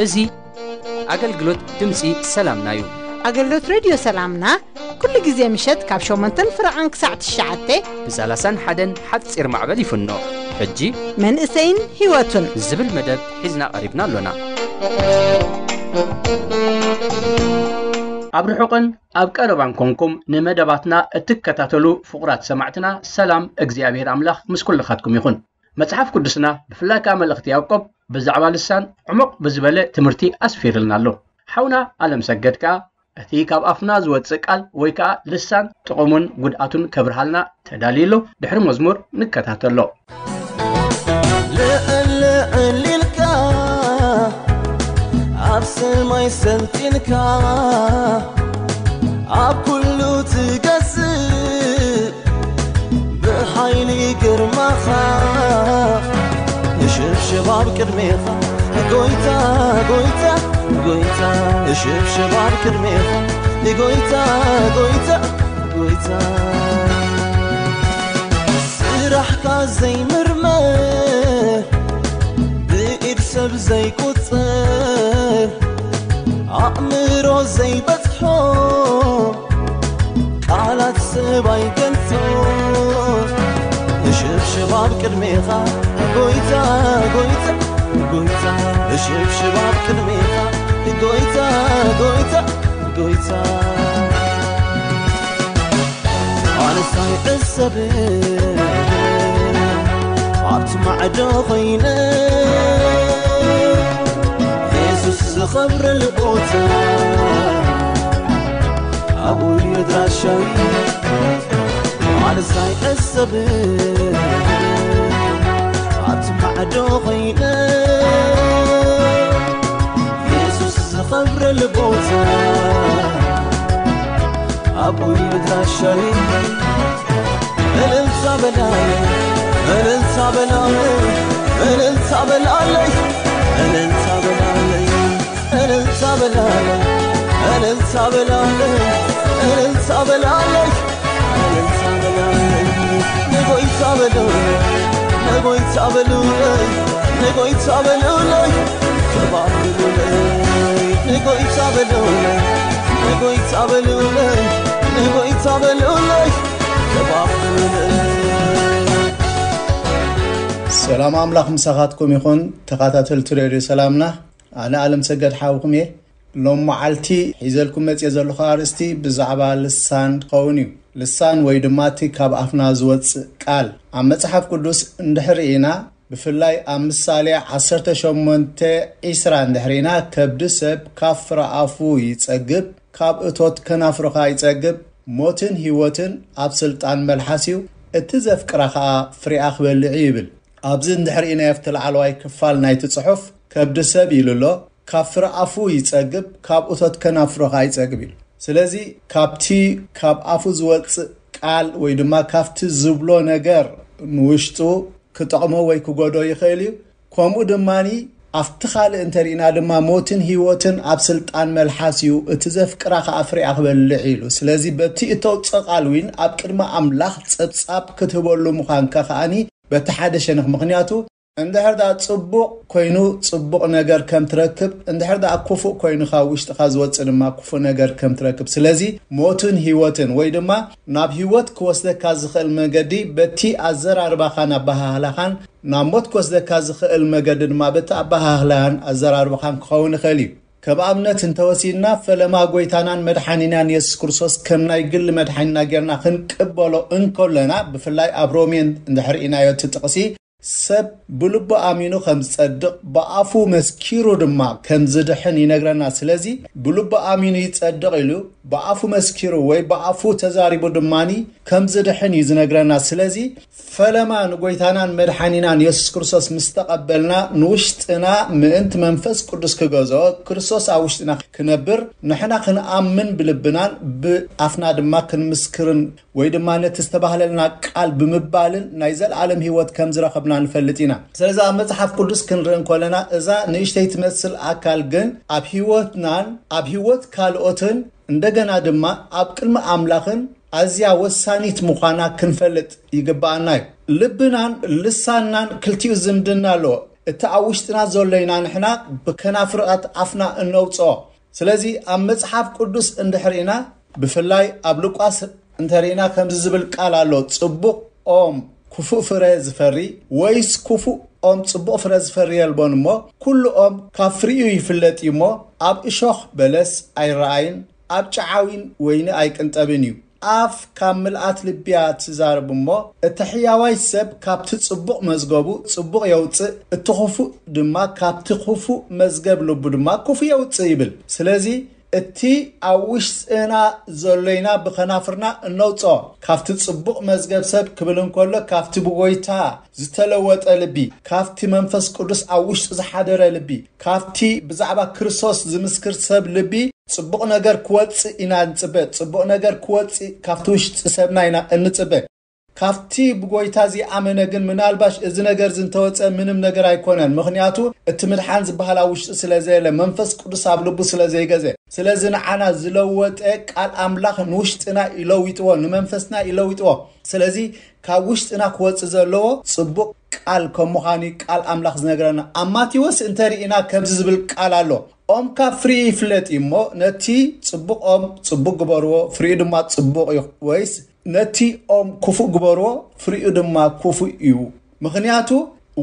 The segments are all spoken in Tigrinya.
እዚ ኣገልግሎት ድምፂ ሰላምና እዩ። ኣገልግሎት ሬድዮ ሰላምና ኩሉ ግዜ ምሸት ካብ ሸሞንተን ፍረቓን ክሳዕ ትሽዓተ ብ ሰላሳን ሓደን ሓፂር ማዕበል ይፍኖ። ሕጂ መንእሰይን ህይወቱን ዝብል መደብ ሒዝና ቀሪብና ኣሎና። ኣብ ርሑቕን ኣብ ቀረባን ኮንኩም ንመደባትና እትከታተሉ ፍቑራት ሰማዕትና፣ ሰላም እግዚኣብሔር ኣምላኽ ምስ ኩልኻትኩም ይኹን። መጽሓፍ ቅዱስና፣ ብፍላይ ከኣ መልእኽቲ ያዕቆብ፣ ብዛዕባ ልሳን ዕሙቕ ብዝበለ ትምህርቲ ኣስፊርልና ኣሎ። ሓውና ኣለም ሰገድ ከኣ፣ እቲ ካብ ኣፍና ዝወጽእ ቃል ወይ ከኣ ልሳን ጥቕሙን ጉድኣቱን ከብርሃልና ተዳልዩ ኣሎ። ድሕሪ መዝሙር ንከታተሎ። ልዕል ልዕል ኢልካ፣ ኣብ ሰማይ ሰልጢንካ፣ ኣብ ኩሉ ትገዝእ፣ ብሓይሊ ግርማኻ፣ ንሽብሽብ ኣብ ቅድሜኻ፣ ጎይታ፣ ጎይታ፣ ጎይታ፣ ንሽብሽብ ኣብ ቅድሜኻ፣ ጎይታ፣ ጎይታ፣ ጎይታ። ስራሕካ ዘይምርመር፣ ብኢድ ሰብ ዘይቁጸር፣ ኣእምሮ ዘይበጽሖ፣ ቃላት ሰብ ኣይገልጾ። ንሽብሽብ ኣብ ቅድሜኻ፣ ጎይታ፣ ጎይታ፣ ጎይታ። ንሽብሽብ ኣብ ቅድሜኻ፣ ጎይታ፣ ጎይታ፣ ጎይታ። ኣነስ ኣይዕሰብን ኣብቲ ማዕዶ ኾይነ፣ የሱስ ዝኸብረሉ ቦታ ኣብኡ እዩ ኣድራሻይ። ኣነስ ኣይዕሰብን ኣብቲ ማዕዶ ኾይነ፣ የሱስ ዝኸብረሉ ቦታ ኣብኡ እዩ ኣድራሻይ። እልልታ በላይ፣ እልልታ በላይ፣ እልልታ በላለይ፣ እልልታ በላለይ፣ እልልታ በላለይ፣ እልልታ በላለይ፣ እልልታ በላለይ፣ እልልታ በላለይ። ንጎይታ በሉለይ፣ ንጎይታ በሉለይ፣ ንጎይታ በሉለይ፣ ክባር በሉለይ። ንጎይታ በሉለይ፣ ንጎይታ በሉለይ፣ ንጎይታ በሉለይ፣ ክባር በሉለይ። ሰላም ኣምላኽ ምሳኻትኩም ይኹን፣ ተኸታተልቲ ሬድዮ ሰላምና። ኣነ ኣለም ሰገድ ሓውኩም እየ። ሎም መዓልቲ ሒዘልኩም መጽየ ዘለኹ ኣርእስቲ ብዛዕባ ልሳን ክኸውን እዩ። ልሳን ወይ ድማ እቲ ካብ ኣፍና ዝወጽእ ቃል። ኣብ መጽሓፍ ቅዱስ እንድሕር ኢና፣ ብፍላይ ኣብ ምሳሌ ዓሰርተ ሸሞንተ ዒስራ እንድሕር ኢና፣ ከብዲ ሰብ ካብ ፍረ ኣፉ ይጸግብ፣ ካብ እቶት ከናፍሩ ኸኣ ይጸግብ፣ ሞትን ህይወትን ኣብ ስልጣን መልሓስ እዩ፣ እቲ ዘፍቅራ ኸኣ ፍሬኣ ክበልዕ እዩ ይብል። ኣብዚ እንድሕር ኢናዮ ኣብቲ ላዕለዋይ ክፋል ናይቲ ጽሑፍ፣ ከብዲ ሰብ ኢሉ ኣሎ፣ ካብ ፍረ ኣፉ ይጸግብ፣ ካብ እቶት ከናፍሩ ኸኣ ይጸግብ ኢሉ። ስለዚ ካብቲ ካብ ኣፉ ዝወጽእ ቃል ወይ ድማ ካብቲ ዝብሎ ነገር ንውሽጡ ክጠቕሞ ወይ ክጎዶ ይኽእል እዩ። ከምኡ ድማኒ ኣብቲ ካልእ እንተሪእና ድማ ሞትን ህይወትን ኣብ ስልጣን መልሓስ እዩ፣ እቲ ዘፍቅራ ኸኣ ፍሬኣ ክበልዕ ኢሉ። ስለዚ በቲ እተውጽኦ ቃል እውን ኣብ ቅድሚ ኣምላኽ ጸብጻብ ክትህበሉ ምዃንካ ከኣኒ በቲ ሓደ ሸነኽ። ምኽንያቱ እንድሕር ደኣ ጽቡቕ ኮይኑ ጽቡቕ ነገር ከም ትረክብ፣ እንድሕር ደኣ ክፉእ ኮይኑ ካብ ውሽጥኻ ዝወጽእ ድማ ክፉእ ነገር ከም ትረክብ። ስለዚ ሞትን ህይወትን ወይ ድማ ናብ ህይወት ክወስደካ ዝኽእል መገዲ በቲ ኣዘራርባኻን ኣበሃህላኻን፣ ናብ ሞት ክወስደካ ዝኽእል መገዲ ድማ በቲ ኣበሃህላን ኣዘራርባኻን ክኸውን ይኽእል እዩ። ከም ኣብነት እንተወሲድና፣ ፈለማ ጐይታናን መድሓኒናን የሱስ ክርስቶስ ከም ናይ ግሊ መድሓኒና ጌርና ክንቅበሎ እንከለና፣ ብፍላይ ኣብ ሮሜ እንድሕር ኢናዮ እቲ ጥቕሲ፣ ሰብ ብልቡ ኣሚኑ ከም ዝጸድቕ፣ ብኣፉ መስኪሩ ድማ ከም ዝድሕን ይነግረና። ስለዚ ብልቡ ኣሚኑ ይጸድቕ ኢሉ፣ ብኣፉ መስኪሩ ወይ ብኣፉ ተዛሪቡ ድማኒ ከም ዝድሕን እዩ ዝነግረና። ስለዚ ፈለማ ንጎይታናን መድሓኒናን የሱስ ክርስቶስ ምስ ተቐበልና፣ ንውሽጥና ምእንቲ መንፈስ ቅዱስ ክገዝኦ፣ ክርስቶስ ኣብ ውሽጥና ክነብር፣ ንሕና ክንኣምን ብልብናን ብኣፍና ድማ ክንምስክርን ወይ ድማ ነቲ ዝተባህለልና ቃል ብምባልን ናይ ዘለኣለም ህይወት ከም ዝረኸብና ንፈልጥ ኢና። ስለዚ ኣብ መጽሓፍ ቅዱስ ክንርኢ እንከለና፣ እዛ ንእሽተይ ትመስል ኣካል ግን ኣብ ህይወትናን ኣብ ህይወት ካልኦትን፣ እንደገና ድማ ኣብ ቅድሚ ኣምላኽን ኣዝያ ወሳኒት ምዃና ክንፈልጥ ይግብኣና እዩ። ልብናን ልሳንናን ክልቲኡ ዝምድና ኣለዎ። እቲ ኣብ ውሽጥና ዘሎ ኢና ንሕና ብከናፍራት ኣፍና እነውፅኦ። ስለዚ ኣብ መጽሓፍ ቅዱስ እንድሕር ኢና፣ ብፍላይ ኣብ ሉቃስ እንተርኢና ከምዚ ዝብል ቃል ኣሎ፣ "ጽቡቕ ኦም ክፉእ ፍረ ዝፈሪ ወይስ ክፉእ ኦም ጽቡቕ ፍረ ዝፈሪ የልቦን እሞ፣ ኩሉ ኦም ካብ ፍሪኡ ይፍለጥ እዩ እሞ፣ ኣብ እሾኽ በለስ ኣይረኣይን፣ ኣብ ጨዓዊን ወይኒ ኣይቅንጠብን እዩ። ኣፍ ካብ ምልኣት ልቢ እያ ትዛረብ እሞ፣ እቲ ሕያዋይ ሰብ ካብቲ ጽቡቕ መዝገቡ ጽቡቕ የውጽእ፣ እቲ ክፉእ ድማ ካብቲ ክፉእ መዝገብ ልቡ ድማ ክፉእ የውጽእ" ይብል። ስለዚ እቲ ኣብ ውሽጥና ዘሎ ኢና ብኸናፍርና እነውጽኦ። ካብቲ ጽቡቕ መዝገብ ሰብ ክብል እንከሎ፣ ካብቲ ብጎይታ ዝተለወጠ ልቢ፣ ካብቲ መንፈስ ቅዱስ ኣብ ውሽጡ ዝሓደረ ልቢ፣ ካብቲ ብዛዕባ ክርስቶስ ዝምስክር ሰብ ልቢ ጽቡቕ ነገር ክወጽእ ኢና እንጽበ። ጽቡቕ ነገር ክወጽእ ካብቲ ውሽጢ ሰብና ኢና እንጽበ። ካብቲ ብጎይታ ዝኣመነ ግን ምናልባሽ እዚ ነገር እዚ እንተወጸ ምንም ነገር ኣይኮነን። ምኽንያቱ እቲ ምድሓን ዝበሃል ኣብ ውሽጢ ስለ ዘየለ፣ መንፈስ ቅዱስ ኣብ ልቡ ስለ ዘይገዘ። ስለዚ ንዓና ዝለወጠ ቃል ኣምላኽ ንውሽጥና ይለውጥዎ፣ ንመንፈስና ይለውጥዎ። ስለዚ ካብ ውሽጥና ክወጽእ ዘለዎ ጽቡቕ ቃል ከም ምዃኑ ቃል ኣምላኽ ዝነግረና። ኣብ ማቴዎስ እንተርኢና ከምዚ ዝብል ቃል ኣሎ፣ "ኦም ካብ ፍሪኡ ይፍለጥ እዩ እሞ፣ ነቲ ጽቡቕ ኦም ጽቡቕ ግበርዎ፣ ፍሪኡ ድማ ጽቡቕ እዩ፣ ወይስ ነቲ ኦም ክፉእ ግበርዎ፣ ፍሪኡ ድማ ክፉእ እዩ?" ምኽንያቱ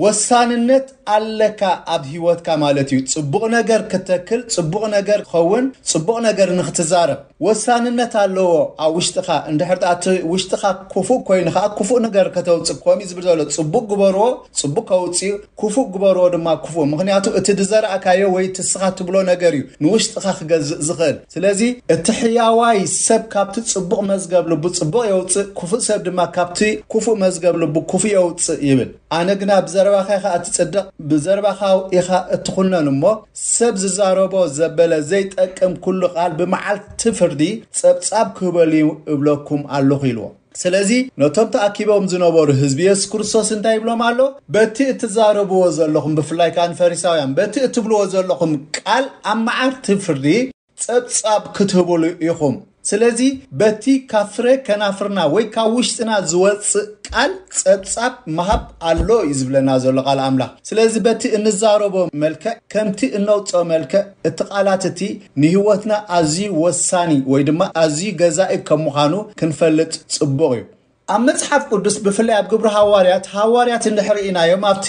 ወሳንነት ኣለካ ኣብ ህይወትካ ማለት እዩ። ጽቡቕ ነገር ክተክል፣ ጽቡቕ ነገር ክኸውን፣ ጽቡቕ ነገር ንክትዛረብ ወሳንነት ኣለዎ ኣብ ውሽጥኻ። እንድሕር ደኣ እቲ ውሽጥኻ ክፉእ ኮይኑ ኸኣ ክፉእ ነገር ከተውጽእ፣ ከምኡ ዝብል ዘሎ ጽቡቕ ግበርዎ፣ ጽቡቕ ከውጽእ፣ ክፉእ ግበርዎ ድማ ክፉእ። ምኽንያቱ እቲ ዝዘራእካዮ ወይ እቲ ንስኻ ትብሎ ነገር እዩ ንውሽጥኻ ክገዝእ ዝኽእል። ስለዚ እቲ ሕያዋይ ሰብ ካብቲ ጽቡቕ መዝገብ ልቡ ጽቡቕ የውጽእ፣ ክፉእ ሰብ ድማ ካብቲ ክፉእ መዝገብ ልቡ ክፉእ የውጽእ ይብል። ኣነ ግና ብዘረባኻ ኢኻ እትጽደቕ፣ ብዘረባኻ ኢኻ እትኹነን እሞ፣ ሰብ ዝዛረቦ ዘበለ ዘይጠቅም ኩሉ ቃል ብመዓልቲ ፍርዲ ጸብጻብ ክህበሉ እብለኩም ኣለኹ ኢልዎ። ስለዚ ነቶም ተኣኪቦም ዝነበሩ ህዝቢ የሱስ ክርስቶስ እንታይ ይብሎም ኣሎ? "በቲ እትዛረብዎ ዘለኹም፣ ብፍላይ ከኣ ንፈሪሳውያን፣ በቲ እትብልዎ ዘለኹም ቃል ኣብ መዓልቲ ፍርዲ ጸብጻብ ክትህብሉ ኢኹም። ስለዚ በቲ ካብ ፍረ ከናፍርና ወይ ካብ ውሽጥና ዝወጽእ ቃል ጸብጻብ ምሃብ ኣሎ" እዩ ዝብለና ዘሎ ቃል ኣምላኽ። ስለዚ በቲ እንዛረቦ መልክዕ፣ ከምቲ እነውጽኦ መልክዕ፣ እቲ ቃላት እቲ ንህይወትና ኣዝዩ ወሳኒ ወይ ድማ ኣዝዩ ገዛኢ ከም ምዃኑ ክንፈልጥ ጽቡቕ እዩ። ኣብ መጽሓፍ ቅዱስ ብፍላይ ኣብ ግብሪ ሃዋርያት፣ ሃዋርያት እንድሕር ኢናዮም ኣብቲ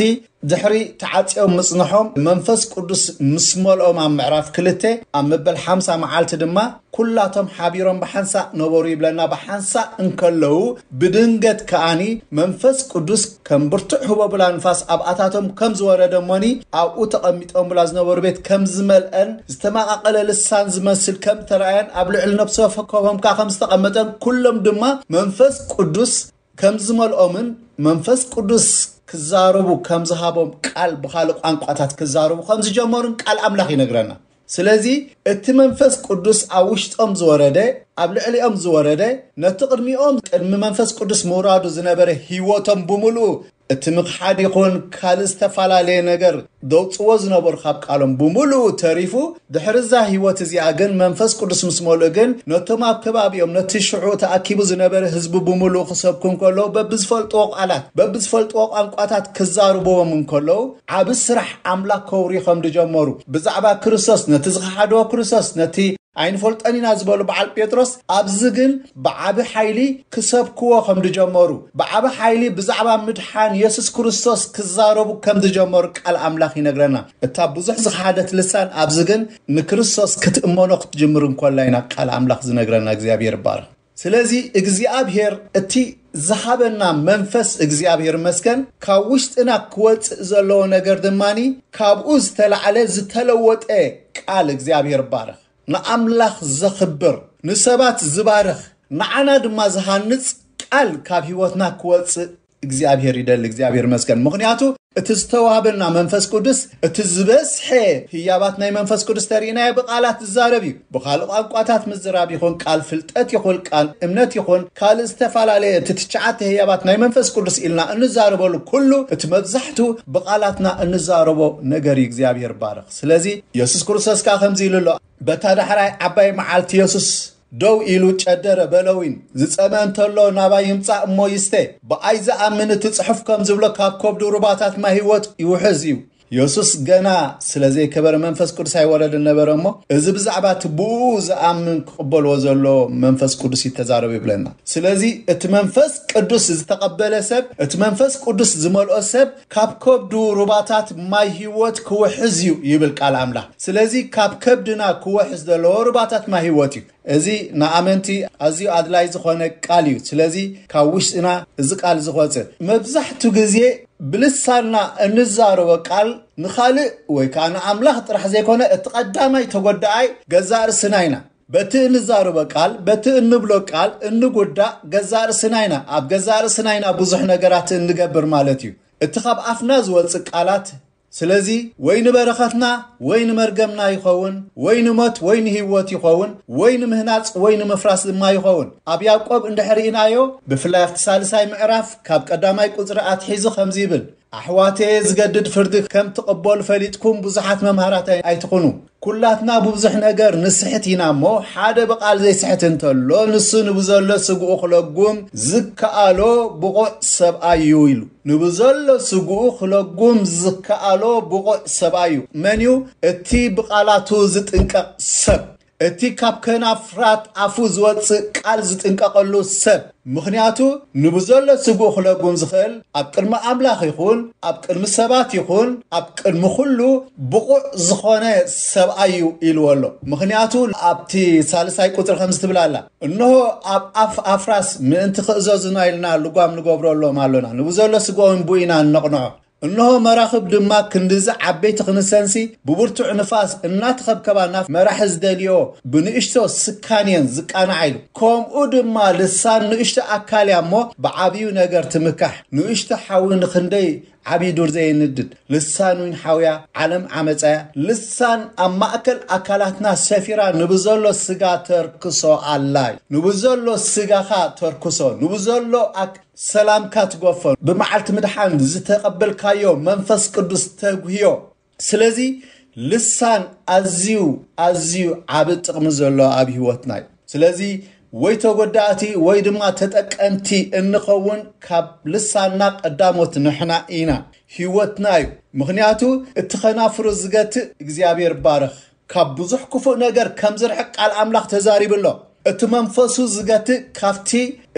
ድሕሪ ተዓጽዮም ምጽንሖም መንፈስ ቅዱስ ምስ መልኦም ኣብ ምዕራፍ ክልተ ኣብ መበል ሓምሳ መዓልቲ ድማ ኩላቶም ሓቢሮም ብሓንሳእ ነበሩ ይብለና። ብሓንሳእ እንከለዉ ብድንገት ከኣኒ መንፈስ ቅዱስ ከም ብርቱዕ ህቦብላ ንፋስ ኣብኣታቶም ከም ዝወረደ እሞኒ ኣብኡ ተቐሚጦምላ ዝነበሩ ቤት ከም ዝመልአን ዝተመቓቐለ ልሳን ዝመስል ከም ተረኣየን ኣብ ልዕሊ ነፍሲ ወከፎም ከኣ ከም ዝተቐመጠን ኩሎም ድማ መንፈስ ቅዱስ ከም ዝመልኦምን መንፈስ ቅዱስ ክዛረቡ ከም ዝሃቦም ቃል ብኻልእ ቋንቋታት ክዛረቡ ከም ዝጀመሩን ቃል ኣምላኽ ይነግረና። ስለዚ እቲ መንፈስ ቅዱስ ኣብ ውሽጦም ዝወረደ፣ ኣብ ልዕሊኦም ዝወረደ፣ ነቲ ቅድሚኦም ቅድሚ መንፈስ ቅዱስ ምውራዱ ዝነበረ ህይወቶም ብምሉኡ እቲ ምኽሓድ ይኹን ካልእ ዝተፈላለየ ነገር ደውጽዎ ዝነበሩ ካብ ቃሎም ብምሉኡ ተሪፉ፣ ድሕሪ እዛ ህይወት እዚኣ ግን መንፈስ ቅዱስ ምስ መልኡ ግን ነቶም ኣብ ከባቢኦም ነቲ ሽዑ ተኣኪቡ ዝነበረ ህዝቢ ብምሉኡ ክሰብኩ እንከለዉ በብዝፈልጥዎ ቃላት በብዝፈልጥዎ ቋንቋታት ክዛርብዎም እንከለዉ ዓቢ ስራሕ ኣምላኽ ከውሪ ከም ዝጀመሩ ብዛዕባ ክርስቶስ ነቲ ዝኸሓድዎ ክርስቶስ ነቲ ኣይንፈልጦን ኢና ዝበሉ በዓል ጴጥሮስ ኣብዚ ግን ብዓቢ ሓይሊ ክሰብክዎ ከም ዝጀመሩ ብዓቢ ሓይሊ ብዛዕባ ምድሓን የሱስ ክርስቶስ ክዛረቡ ከም ዝጀመሩ ቃል ኣምላኽ ይነግረና። እታ ብዙሕ ዝኸሓደት ልሳን ኣብዚ ግን ንክርስቶስ ክትእመኖ ክትጅምር እንኮላ ኢና ቃል ኣምላኽ ዝነግረና። እግዚኣብሔር ይባረኽ። ስለዚ እግዚኣብሔር እቲ ዝሃበና መንፈስ እግዚኣብሔር ይመስገን ካብ ውሽጥና ክወፅእ ዘለዎ ነገር ድማኒ ካብኡ ዝተላዕለ ዝተለወጠ ቃል እግዚኣብሔር ይባረኽ። ንኣምላኽ ዘኽብር፣ ንሰባት ዝባርኽ፣ ንዓና ድማ ዝሃንጽ ቃል ካብ ህይወትና ክወጽእ እግዚኣብሔር ይደሊ። እግዚኣብሔር ይመስገን። ምኽንያቱ እቲ ዝተዋህበና መንፈስ ቅዱስ፣ እቲ ዝበዝሐ ህያባት ናይ መንፈስ ቅዱስ ተርእናዮ ብቃላት ዝዛረብ እዩ። ብኻልእ ቋንቋታት ምዝራብ ይኹን፣ ቃል ፍልጠት ይኹን፣ ቃል እምነት ይኹን፣ ካልእ ዝተፈላለየ እቲ ትሽዓተ ህያባት ናይ መንፈስ ቅዱስ ኢልና እንዛረበሉ ኩሉ፣ እቲ መብዛሕቱ ብቃላትና እንዛረቦ ነገር እዩ። እግዚኣብሔር ባረኽ። ስለዚ የሱስ ክርስቶስ ከኣ ከምዚ ኢሉ ኣሎ፣ በታ ዳሕራይ ዓባይ መዓልቲ የሱስ ደው ኢሉ ጨደረ፣ በለዊን፣ ዝጸመ እንተሎ ናባይ ይምጻእ እሞ ይስተ። ብኣይ ዝኣምን፣ እቲ ጽሑፍ ከም ዝብሎ፣ ካብ ከብዱ ሩባታት ማይ ህይወት ይውሕዝ እዩ። የሱስ ገና ስለ ዘይከበረ መንፈስ ቅዱስ ኣይወረድን ነበረ እሞ፣ እዚ ብዛዕባ እቲ ብኡ ዝኣምን ክቕበልዎ ዘሎ መንፈስ ቅዱስ እዩ ተዛረቡ ይብለና። ስለዚ እቲ መንፈስ ቅዱስ ዝተቐበለ ሰብ፣ እቲ መንፈስ ቅዱስ ዝመልኦ ሰብ ካብ ከብዱ ሩባታት ማይ ህይወት ክውሕዝ እዩ ይብል ቃል ኣምላኽ። ስለዚ ካብ ከብድና ክወሕዝ ዘለዎ ሩባታት ማይ ህይወት እዩ። እዚ ንኣመንቲ ኣዝዩ ኣድላይ ዝኾነ ቃል እዩ። ስለዚ ካብ ውሽጥና እዚ ቃል ዝወፅእ መብዛሕቱ ግዜ ብልሳንና እንዛረቦ ቃል ንኻልእ ወይ ከዓ ንኣምላኽ ጥራሕ ዘይኮነ እቲ ቀዳማይ ተጎዳኣይ ገዛእ ርእስና ኢና። በቲ እንዛረቦ ቃል፣ በቲ እንብሎ ቃል እንጉዳእ ገዛእ ርእስና ኢና። ኣብ ገዛእ ርእስና ኢና ብዙሕ ነገራት እንገብር ማለት እዩ። እቲ ካብ ኣፍና ዝወፅእ ቃላት ስለዚ ወይ ንበረኸትና ወይ ንመርገምና ይኸውን፣ ወይ ንሞት ወይ ንህይወት ይኸውን፣ ወይ ንምህናጽ ወይ ንምፍራስ ድማ ይኸውን። ኣብ ያዕቆብ እንድሕር ርኢናዮ፣ ብፍላይ ኣብቲ ሳልሳይ ምዕራፍ ካብ ቀዳማይ ቁጽሪ ኣትሒዙ ከምዚ ይብል፣ ኣሕዋተየ፣ ዝገድድ ፍርዲ ከም ትቕበሉ ፈሊጥኩም ብዙሓት መምሃራት ኣይ-፣ ኣይትኹኑ። ኩላትና ብብዙሕ ነገር ንስሕት ኢና እሞ፣ ሓደ ብቓል ዘይስሕት እንተሎ፣ ንሱ ንብዘሎ ስግኡ ክለጉም ዝከኣሎ ብቑዕ ሰብኣይ እዩ ኢሉ። ንብዘሎ ስግኡ ክለጉም ዝከኣሎ ብቑዕ ሰብኣይ እዩ። መን እዩ? እቲ ብቓላቱ ዝጥንቀቕ ሰብ። እቲ ካብ ከናፍራት ኣፉ ዝወጽእ ቃል ዝጥንቀቐሉ ሰብ። ምኽንያቱ ንብዘሎ ስግኡ ክለጉም ዝኽእል ኣብ ቅድሚ ኣምላኽ ይኹን ኣብ ቅድሚ ሰባት ይኹን ኣብ ቅድሚ ኩሉ ብቑዕ ዝኾነ ሰብኣይ እዩ ኢልዎ ኣሎ። ምኽንያቱ ኣብቲ ሳልሳይ ቁጽሪ ከምዚ ትብል ኣላ፣ እንሆ ኣብ ኣፍ ኣፍራስ ምእንቲ ክእዘዙና ኢልና ልጓም ንገብረሎም ኣሎና። ንብዘሎ ስግኦም ብኡ ኢና እነቕንዖ። እንሆ መራኽብ ድማ ክንድዚ ዓበይቲ ክንሰንሲ ብብርቱዕ ንፋስ እናተኸብከባ ናብ መራሒ ዝደልዮ ብንእሽቶ ስካን እየን ዝቃንዓ ኢሉ። ከምኡ ድማ ልሳን ንእሽቶ ኣካል እያ እሞ ብዓብዩ ነገር ትምካሕ። ንእሽቶ ሓዊ ንኽንደይ ዓብዪ ዱር ዘየንድድ። ልሳን ዊን ሓውያ፣ ዓለም ዓመፃያ። ልሳን ኣብ ማእከል ኣካላትና ሰፊራ ንብዘሎ ስጋ ተርክሶ ኣላ እዩ። ንብዘሎ ስጋኻ ተርክሶ፣ ንብዘሎ ኣክ-፣ ሰላምካ ትጎፎ፣ ብመዓልቲ ምድሓን ዝተቐበልካዮ መንፈስ ቅዱስ ተጉህዮ። ስለዚ ልሳን ኣዝዩ፣ ኣዝዩ ዓቢ ጥቕሚ ዘሎ ኣብ ህይወትና እዩ። ስለዚ ወይ ተጎዳእቲ ወይ ድማ ተጠቀምቲ እንኸውን፣ ካብ ልሳንና ቀዳሞት ንሕና ኢና፣ ህይወትና እዩ። ምኽንያቱ እቲ ኸናፍሩ ዝገትእ እግዚኣብሔር ባርኽ ካብ ብዙሕ ክፉእ ነገር ከም ዝርሕቅ ቃል ኣምላኽ ተዛሪቡ ኣሎ። እቲ መንፈሱ ዝገትእ ካብቲ፣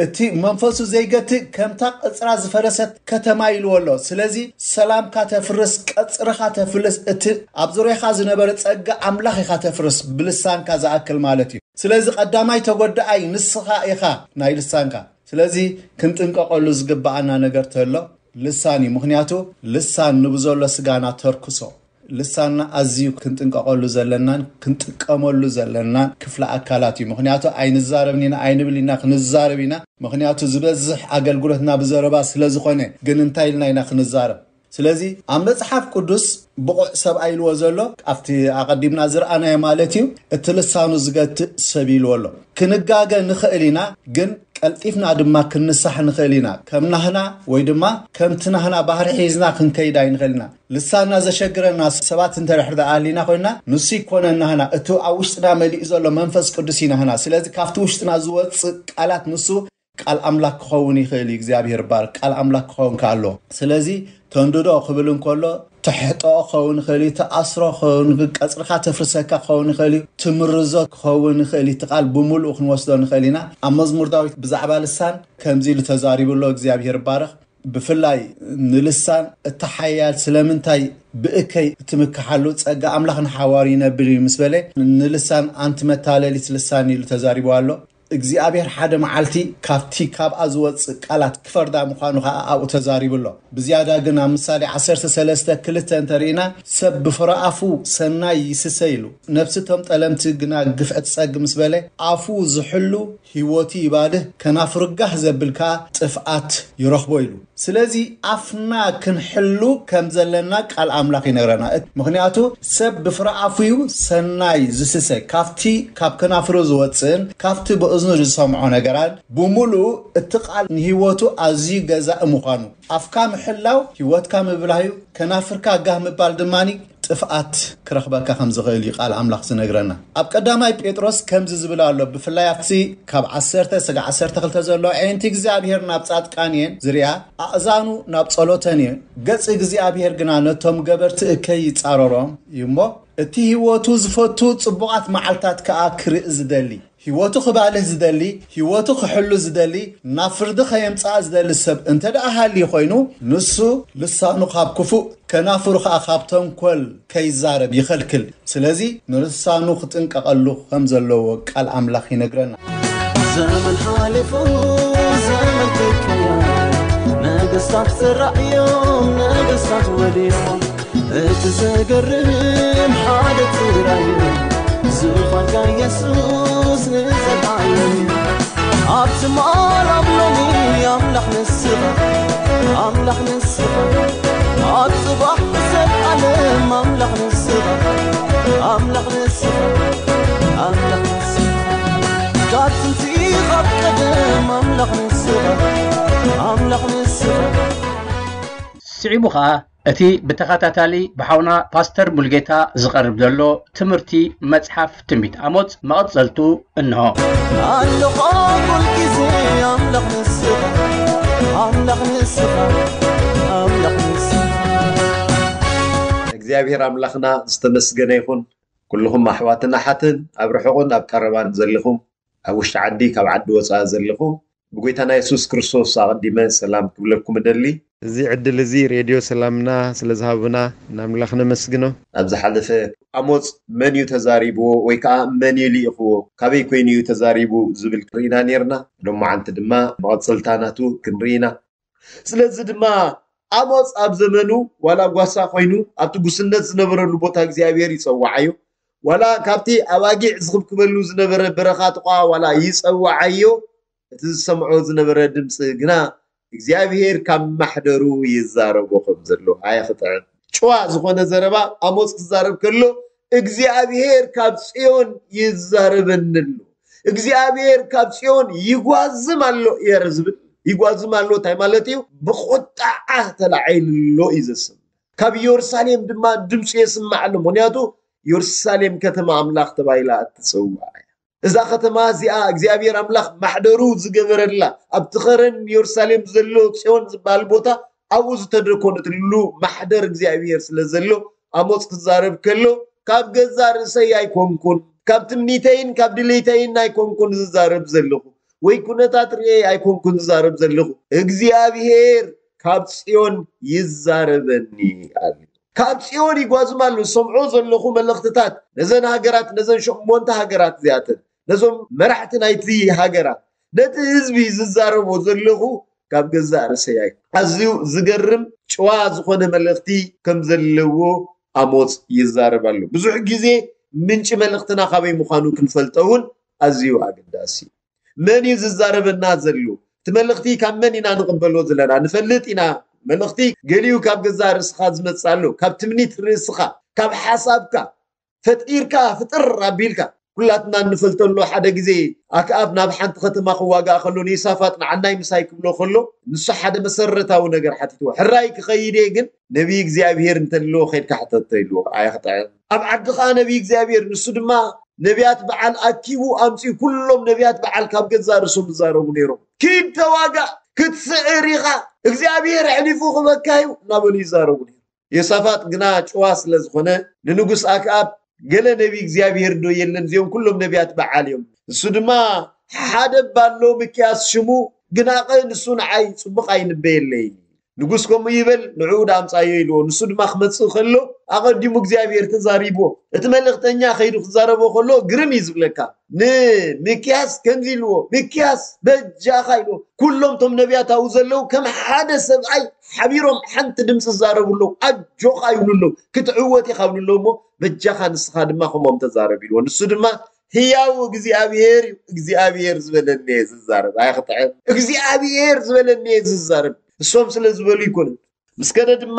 እቲ መንፈሱ ዘይገትእ ከምታ ቀጽራ ዝፈረሰት ከተማ ኢልዎ ኣሎ። ስለዚ ሰላምካ ተፍርስ፣ ቀጽርኻ ተፍልስ፣ እቲ ኣብ ዙርያኻ ዝነበረ ጸጋ ኣምላኽ ኢኻ ተፍርስ ብልሳንካ ዝኣክል ማለት እዩ። ስለዚ ቀዳማይ ተጎዳኣይ ንስኻ ኢኻ ናይ ልሳንካ። ስለዚ ክንጥንቀቐሉ ዝግብኣና ነገር ተሎ ልሳን እዩ። ምኽንያቱ ልሳን ንብዘሎ ስጋና ተርክሶ። ልሳንና ኣዝዩ ክንጥንቀቐሉ ዘለናን ክንጥቀመሉ ዘለናን ክፍለ ኣካላት እዩ። ምኽንያቱ ኣይንዛረብን ኢና፣ ኣይንብል ኢና፣ ክንዛረብ ኢና። ምኽንያቱ ዝበዝሕ ኣገልግሎትና ብዘረባ ስለ ዝኾነ። ግን እንታይ ኢልና ኢና ክንዛረብ? ስለዚ ኣብ መጽሓፍ ቅዱስ ብቑዕ ሰብኣይ ኢልዎ ዘሎ ኣብቲ ኣቐዲምና ዝረኣናዮ ማለት እዩ፣ እቲ ልሳኑ ዝገትእ ሰብ ኢልዎ ኣሎ። ክንጋገ ንኽእል ኢና፣ ግን ቀልጢፍና ድማ ክንንሳሕ ንኽእል ኢና። ከም ናህና ወይ ድማ ከምቲ ናህና ባህሪ ሒዝና ክንከይድ ኣይንኽእል ኢና። ልሳንና ዘሸግረና ሰባት እንተ ድሕር ደኣ ኣሊና ኮይንና፣ ንሱ ይኮነን ናህና፣ እቲ ኣብ ውሽጥና መሊኡ ዘሎ መንፈስ ቅዱስ እዩ ናህና። ስለዚ ካብቲ ውሽጥና ዝወጽእ ቃላት ንሱ ቃል ኣምላኽ ክኸውን ይኽእል እዩ። እግዚኣብሔር ባርክ። ቃል ኣምላኽ ክኸውን ከኣሎ። ስለዚ ተንድዶ ክብል እንከሎ፣ ትሕጥኦ ክኸውን ይኽእል እዩ፣ ትኣስሮ ክኸውን፣ ቀጽርኻ ተፍርሰካ ክኸውን ይኽእል እዩ፣ ትምርዞ ክኸውን ይኽእል እዩ። እቲ ቃል ብምሉኡ ክንወስዶ ንኽእል ኢና። ኣብ መዝሙር ዳዊት ብዛዕባ ልሳን ከምዚ ኢሉ ተዛሪቡ ኣሎ። እግዚኣብሔር ባርኽ። ብፍላይ ንልሳን እቲ ሓያል ስለምንታይ ብእከይ እትምክሓሉ? ጸጋ ኣምላኽ ንሓዋሩ ይነብር እዩ ምስ በለ፣ ንልሳን ኣንቲ መታለሊት ልሳን ኢሉ ተዛሪቡ ኣሎ። እግዚኣብሔር ሓደ መዓልቲ ካብቲ ካብኣ ዝወፅእ ቃላት ክፈርዳ ምዃኑ ከዓ ኣብኡ ተዛሪቡ ኣሎ። ብዝያዳ ግን ኣብ ምሳሌ ዓሰርተ ሰለስተ ክልተ እንተርኢና፣ ሰብ ብፍረ ኣፉ ሰናይ ይስሰ ኢሉ፣ ነፍሲ እቶም ጠለምቲ ግና ግፍዒ ትጸግ ምስ በለ፣ ኣፉ ዝሕሉ ህይወቱ ይባድህ፣ ከናፍሩ ጋህ ዘብል ከዓ ጥፍኣት ይረኽቦ ኢሉ። ስለዚ ኣፍና ክንሕሉ ከም ዘለና ቃል ኣምላኽ ይነግረና። ምኽንያቱ ሰብ ብፍረ ኣፉ እዩ ሰናይ ዝስሰ፣ ካብቲ ካብ ከናፍሩ ዝወፅእን ካብቲ ብእዝኑ ዝሰምዖ ነገራን ብምሉኡ እቲ ቃል ንህይወቱ ኣዝዩ ገዛኢ ምዃኑ። ኣፍካ ምሕላው ህይወትካ ምብላህ እዩ። ከናፍርካ ጋህ ምባል ድማ ጥፍኣት ክረኽበካ ከም ዝኽእል እዩ ቃል ኣምላኽ ዝነግረና። ኣብ ቀዳማይ ጴጥሮስ ከምዚ ዝብል ኣሎ፣ ብፍላይ ኣብቲ ካብ ዓሰርተ ስጋዕ ዓሰርተ ክልተ ዘሎ፣ ኣዒንቲ እግዚኣብሔር ናብ ጻድቃን እየን ዝሪኣ፣ ኣእዛኑ ናብ ጸሎተን እየን፣ ገጽ እግዚኣብሔር ግና ነቶም ገበርቲ እከይ ይጻረሮም እዩ እሞ፣ እቲ ህይወቱ ዝፈቱ ጽቡቓት መዓልታት ከኣ ክርኢ ዝደሊ፣ ህይወቱ ክባልህ ዝደሊ፣ ህይወቱ ክሕሉ ዝደሊ፣ ናብ ፍርዲ ከየምጽኣ ዝደሊ ሰብ እንተ ደኣ ሃልዩ ኮይኑ፣ ንሱ ልሳኑ ካብ ክፉእ፣ ከናፍሩ ኸኣ ካብ ተንኮል ከይዛረብ ይኸልክል። ስለዚ ንልሳኑ ክጥንቀቐሉ ከም ዘለዎ ቃል ኣምላኽ ይነግረና። ዘመን ሓሊፉ፣ ዘመን ክቀየር፣ ነገስታት ተራእዮም፣ ነገስታት ወዲቖም። እቲ ዘገርም ሓደ ጥራይ እዩ፣ ዝዃንካ የሱስ ንዘለዓለም። ኣብቲ ማል ኣብ ሎሚ ኣምላኽ ንስኻ፣ ኣምላኽ ንስኻ። ኣብ ጽባሕ ብዘለዓለም ኣምላኽ ንስኻ፣ ኣምላኽ ንስኻ፣ ኣምላኽ ንስኻ። ካብ ጥንቲ ካብ ቀደም ኣምላኽ ንስኻ፣ ኣምላኽ ንስኻ። ስዒቡ ኸኣ እቲ ብተኸታታሊ ብሓውና ፓስተር ሙልጌታ ዝቐርብ ዘሎ ትምህርቲ መጽሓፍ ትንቢት ኣሞጽ መቐጸልቱ እንሆ። ኣለኻ ኩል ግዜ ኣምላኽ ንስኻ፣ ኣምላኽ ንስኻ፣ ኣምላኽ ንስኻ። እግዚኣብሔር ኣምላኽና ዝተመስገነ ይኹን። ኩልኹም ኣሕዋትን ኣሓትን ኣብ ርሑቕን ኣብ ቀረባን ዘለኹም፣ ኣብ ውሽጢ ዓዲ ካብ ዓዲ ወፃኢ ዘለኹም፣ ብጎይታና የሱስ ክርስቶስ ኣቐዲመ ሰላም ክብለኩም እደሊ። እዚ ዕድል እዚ ሬድዮ ሰላምና ስለ ዝሃቡና ንኣምላኽ ነመስግኖ። ኣብ ዝሓለፈ ኣሞጽ መን እዩ ተዛሪብዎ ወይ ከዓ መን እዩ ልኢኽዎ፣ ካበይ ኮይኑ እዩ ተዛሪቡ ዝብል ርኢና ነርና። ሎማዓንቲ ድማ መቐጸልታ ናቱ ክንርኢ ኢና። ስለዚ ድማ ኣሞጽ ኣብ ዘመኑ ዋላ ጓሳ ኮይኑ ኣብቲ ጉስነት ዝነበረሉ ቦታ እግዚኣብሔር ይጸውዓዮ። ዋላ ካብቲ ኣባጊዕ ዝኽብክበሉ ዝነበረ በረኻ ጥቋ ዋላ ይጸውዓዮ፣ እቲ ዝሰምዖ ዝነበረ ድምፂ ግና እግዚኣብሔር ካብ ማሕደሩ ይዛረቦ ከም ዘሎ ኣየኽጥዕን። ጭዋ ዝኾነ ዘረባ ኣሞጽ ክዛረብ ከሎ እግዚኣብሔር ካብ ጽዮን ይዛረበኒ ኣሎ። እግዚኣብሔር ካብ ጽዮን ይጓዝም ኣሎ እየ ዝብል። ይጓዝም ኣሎ እንታይ ማለት እዩ? ብቁጣዓ ተላዒሉ ኣሎ እዩ ዘስም። ካብ ኢየሩሳሌም ድማ ድምፂ የስምዕ ኣሎ። ምኽንያቱ ኢየሩሳሌም ከተማ ኣምላኽ ተባሂላ እትፅዋዕ እያ። እዛ ከተማ እዚኣ እግዚኣብሔር ኣምላኽ ማሕደሩ ዝገበረላ፣ ኣብቲ ኸረን ኢየሩሳሌም ዘሎ ጽዮን ዝበሃል ቦታ ኣብኡ ዝተደኮነትሉ ማሕደር እግዚኣብሔር ስለ ዘሎ ኣሞጽ ክዛረብ ከሎ ካብ ገዛ ርእሰይ ኣይኮንኩን፣ ካብ ትምኒተይን ካብ ድሌተይን ኣይኮንኩን ዝዛረብ ዘለኹ፣ ወይ ኩነታት ርእየ ኣይኮንኩን ዝዛረብ ዘለኹ፣ እግዚኣብሔር ካብ ጽዮን ይዛረበኒ ኣሉ። ካብ ጽዮን ይጓዝም ኣሎ። ዝሰምዖ ዘለኹ መልእኽትታት ነዘን ሃገራት፣ ነዘን ሸሞንተ ሃገራት እዚኣተን፣ ነዞም መራሕቲ ናይቲ ሃገራት፣ ነቲ ህዝቢ ዝዛረቦ ዘለኹ ካብ ገዛእ ርእሰይ ኣይኮን። ኣዝዩ ዝገርም ጭዋ ዝኾነ መልእኽቲ ከም ዘለዎ ኣሞጽ ይዛረብ ኣሎ። ብዙሕ ግዜ ምንጪ መልእኽትና ካበይ ምዃኑ ክንፈልጦ እውን ኣዝዩ ኣገዳሲ እዩ። መን እዩ ዝዛረበና ዘሎ? እቲ መልእኽቲ ካብ መን ኢና ንቕበሎ ዘለና? ንፈልጥ ኢና። መልእኽቲ ገሊኡ ካብ ገዛእ ርእስኻ ዝመጽእ ኣሎ። ካብ ትምኒት ርእስኻ፣ ካብ ሓሳብካ፣ ፈጢርካ፣ ፍጥር ኣቢልካ። ኩላትና እንፈልጠሉ ሓደ ግዜ ኣክኣብ ናብ ሓንቲ ከተማ ክዋጋእ ከሎ ንኢሳፋጥ ንዓናይ ምሳይ ክብሎ ከሎ ንሱ ሓደ መሰረታዊ ነገር ሓቲትዎ። ሕራይ ክኸይድ እየ ግን ነቢይ እግዚኣብሔር እንተለዎ ከይድካ ሕተቶ ኢልዎ። ኣየኽጥዕን። ኣብ ዓዲ ኸዓ ነቢይ እግዚኣብሔር ንሱ ድማ ነቢያት በዓል ኣኪቡ ኣምጺኡ ኩሎም ነቢያት በዓል ካብ ገዛእ ርእሶም ይዛረቡ ነይሮም። ኪድ ተዋጋእ፣ ክትስዕር ኢኻ፣ እግዚኣብሔር ኣሕሊፉ ክበካ እዩ እናበሉ ይዛረቡ ነይሮም። ዮሳፋጥ ግና ጭዋ ስለ ዝኾነ ንንጉስ ኣክኣብ ገለ ነቢ እግዚኣብሔር ዶ የለን? እዚኦም ኩሎም ነቢያት በዓል እዮም። ንሱ ድማ ሓደ እባ ኣሎ ሚክያስ ሽሙ፣ ግናቐ ንሱ ንዓይ ጽቡቕ ኣይንበየለይ። ንጉስ ከምኡ ይበል፣ ንዕኡ ደኣ ኣምጻዮ ኢልዎ። ንሱ ድማ ክመጽእ ከሎ ኣቐዲሙ እግዚኣብሔር ተዛሪብዎ። እቲ መልእኽተኛ ከይዱ ክዛረቦ ከሎ ግርም እዩ ዝብለካ። ንሚክያስ ከምዚ ኢልዎ፣ "ሚክያስ በጃኻ" ኢልዎ። ኩሎም እቶም ነቢያት ኣብኡ ዘለዉ ከም ሓደ ሰብኣይ ሓቢሮም ሓንቲ ድምፂ ዝዛረቡ ኣለዉ። "ኣጆኻ" ይብሉ ኣለዉ። "ክትዕወት ኢኻ" ይብሉ ኣለዉ። እሞ "በጃኻ ንስኻ ድማ ከምኦም ተዛረብ" ኢልዎ። ንሱ ድማ "ህያው እግዚኣብሔር እዩ፣ እግዚኣብሔር ዝበለኒ እየ ዝዛረብ" ኣይኽጥዕም። "እግዚኣብሔር ዝበለኒ እየ ዝዛረብ፣ እሶም ስለ ዝበሉ ኣይኮነን" ምስ ከደ ድማ፣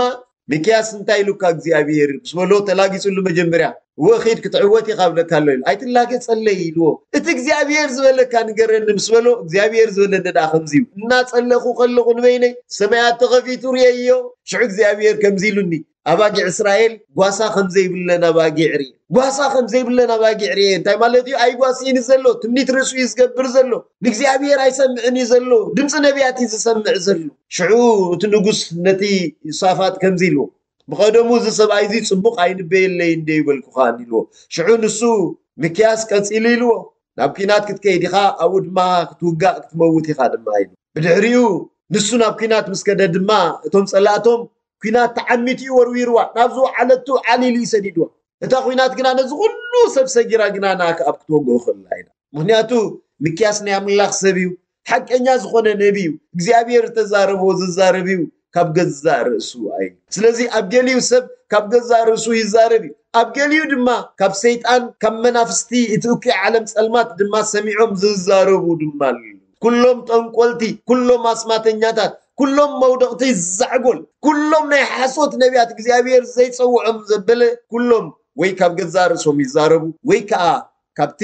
"ሚክያስ እንታይ ኢሉካ እግዚኣብሔር?" ምስ በሎ፣ ተላጊጹሉ መጀመርያ፣ "እወ ኺድ ክትዕወት ኢኻ እብለካ ኣሎ" ኢሉ። "ኣይትላገጸለይ" ኢልዎ። "እቲ እግዚኣብሔር ዝበለካ ንገረኒ" ምስ በሎ፣ "እግዚኣብሔር ዝበለኒ ደኣ ከምዚ እዩ፣ እናጸለኹ ከለኹ ንበይነይ ሰማያት ተኸፊቱ ርእየዮ፣ ሽዑ እግዚኣብሔር ከምዚ ኢሉኒ፣ ኣባጊዕ እስራኤል ጓሳ ከም ዘይብለን ኣባጊዕ ርእየ። ጓሳ ከም ዘይብለን ኣባጊዕ ርእየ እንታይ ማለት እዩ? ኣይጓስይን ዘሎ፣ ትምኒት ርእሱ እዩ ዝገብር ዘሎ፣ ንእግዚኣብሔር ኣይሰምዕን እዩ ዘሎ፣ ድምፂ ነቢያት እዩ ዝሰምዕ ዘሎ። ሽዑ እቲ ንጉስ ነቲ ዮሳፋጥ ከምዚ ኢልዎ፣ ብቐደሙ እዚ ሰብኣይ እዚ ጽቡቕ ኣይንበየለይ እንደ ይበልኩኻን ኢልዎ። ሽዑ ንሱ፣ "ሚክያስ ቀጺሉ" ኢልዎ፣ "ናብ ኲናት ክትከይድ ኢኻ፣ ኣብኡ ድማ ክትውጋእ ክትመውት ኢኻ ድማ" ኢሉ። ብድሕሪኡ ንሱ ናብ ኲናት ምስ ከደ ድማ እቶም ጸላእቶም ኲናት ተዓሚቱ እዩ ወርዊርዋ፣ ናብ ዝወዓለቱ ዓሊሉ እዩ ሰዲድዋ። እታ ኲናት ግና ነዚ ኩሉ ሰብ ሰጊራ ግና ንኣክኣብ ክትወግኦ ከላ ኢና። ምኽንያቱ ሚክያስ ናይ ኣምላኽ ሰብ እዩ፣ ሓቀኛ ዝኾነ ነቢ እዩ፣ እግዚኣብሔር ዝተዛረቦ ዝዛረብ እዩ፣ ካብ ገዛእ ርእሱ ኣይ ስለዚ ኣብ ገሊኡ ሰብ ካብ ገዛእ ርእሱ ይዛረብ እዩ፣ ኣብ ገሊኡ ድማ ካብ ሰይጣን ካብ መናፍስቲ እቲ እኩይ ዓለም ጸልማት ድማ ሰሚዖም ዝዛረቡ ድማ ኣለዉ። ኩሎም ጠንቆልቲ፣ ኩሎም ኣስማተኛታት፣ ኩሎም መውደቕቲ ዛዕጎል፣ ኩሎም ናይ ሓሶት ነቢያት እግዚኣብሔር ዘይጸውዖም ዘበለ ኩሎም ወይ ካብ ገዛእ ርእሶም ይዛረቡ ወይ ከኣ ካብቲ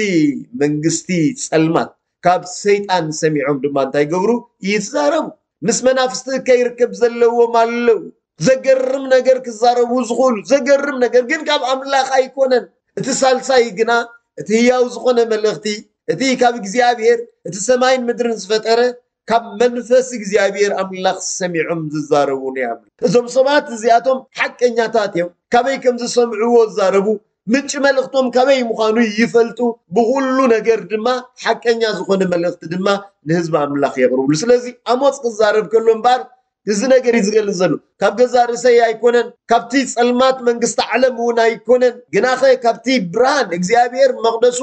መንግስቲ ጸልማት ካብ ሰይጣን ሰሚዖም ድማ እንታይ ይገብሩ? ይዛረቡ። ምስ መናፍስቲ ከይርክብ ዘለዎም ኣለዉ። ዘገርም ነገር ክዛረቡ ዝኽእሉ፣ ዘገርም ነገር ግን ካብ ኣምላኽ ኣይኮነን። እቲ ሳልሳይ ግና እቲ ህያው ዝኾነ መልእኽቲ፣ እቲ ካብ እግዚኣብሔር፣ እቲ ሰማይን ምድርን ዝፈጠረ፣ ካብ መንፈስ እግዚኣብሔር ኣምላኽ ሰሚዖም ዝዛረቡ ናይ ኣምላኽ። እዞም ሰባት እዚኣቶም ሓቀኛታት እዮም። ካበይ ከም ዝሰምዕዎ ዝዛረቡ፣ ምንጪ መልእኽቶም ካበይ ምዃኑ ይፈልጡ። ብኹሉ ነገር ድማ ሓቀኛ ዝኾነ መልእኽቲ ድማ ንህዝቢ ኣምላኽ የቕርብሉ። ስለዚ ኣሞጽ ክዛረብ ከሎ እምበኣር እዚ ነገር እዩ ዝገልጽ ዘሎ። ካብ ገዛእ ርእሰይ ኣይኮነን፣ ካብቲ ጸልማት መንግስቲ ዓለም እውን ኣይኮነን፣ ግናኸ ካብቲ ብርሃን እግዚኣብሔር መቕደሱ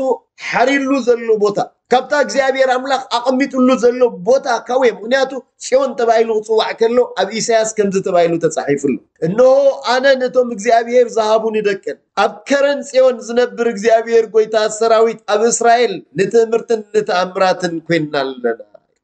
ሓሪሉ ዘሎ ቦታ፣ ካብታ እግዚኣብሔር ኣምላኽ ኣቐሚጥሉ ዘሎ ቦታ ካብኡ እየ። ምኽንያቱ ጽዮን ተባሂሉ ክጽዋዕ ከሎ ኣብ ኢሳያስ ከምዚ ተባሂሉ ተጻሒፉ ኣሎ። "እንሆ ኣነ ነቶም እግዚኣብሔር ዝሃቡኒ ደቅን ኣብ ከረን ጽዮን ዝነብር እግዚኣብሔር ጐይታ ሰራዊት ኣብ እስራኤል ንትእምርትን ንተኣምራትን ኮይንና ኣለና።"